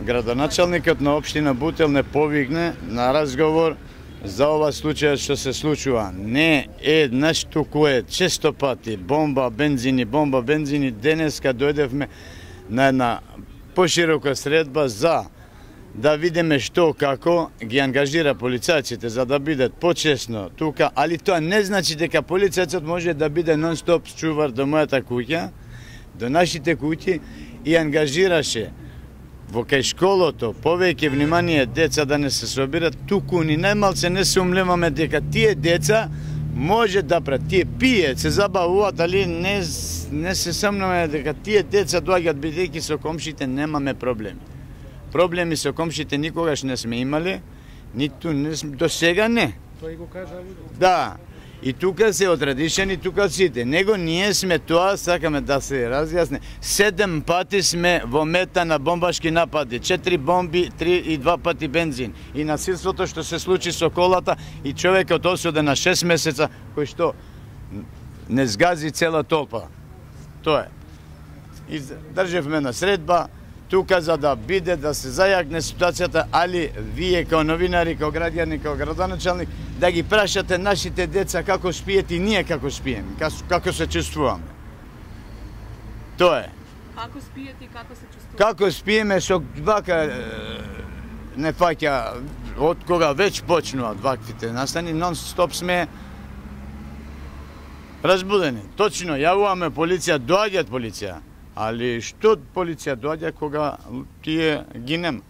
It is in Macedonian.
градоначалникот на општина Бутел не повикне на разговор за ова случај што се случува. Не еднаш, туку е често пати бомба, бензини. Денеска дојдевме на една поширока средба за да видиме што како ги ангажира полицајците за да бидат почесно тука, али тоа не значи дека полицајцот може да биде нон-стоп чувар до мојата куќа, до нашите куќи и ангажираше во кај школото повеќе внимание деца да не се собират, туку ни најмалце не се умлеваме дека тие деца може да прат, тие пијат, се забавуваат, али не се сомневаме дека тие деца доаѓаат бидејќи со комшите немаме проблеми. Проблеми со комшите никогаш не сме имали, ниту до сега не. Тој го кажа. Да. И тука се отрадишени, тука сите. Него ние сме тоа, сакаме да се разјасне. 7 пати сме во мета на бомбашки напади. 4 бомби, 3 и 2 пати бензин. И насилството што се случи со колата и човекот осуден на 6 месеца, кој што не згази цела толпа. Тоа е. И држевме на средба, тука за да биде, да се зајакне ситуацијата, али вие као новинари, као граѓани, као градоначалник, да ги прашате нашите деца како спиете и ние како спиеме, како се чувствуваме. Тоа е. Како спиете и како се чувствувате? Како спиеме, со вака не фаќа, од кога веќе почнуваат ваквите настани, нон-стоп сме разбудени. Точно, јавуваме полиција, доаѓаат полиција. Али што полиција доаѓа кога тие ги нема?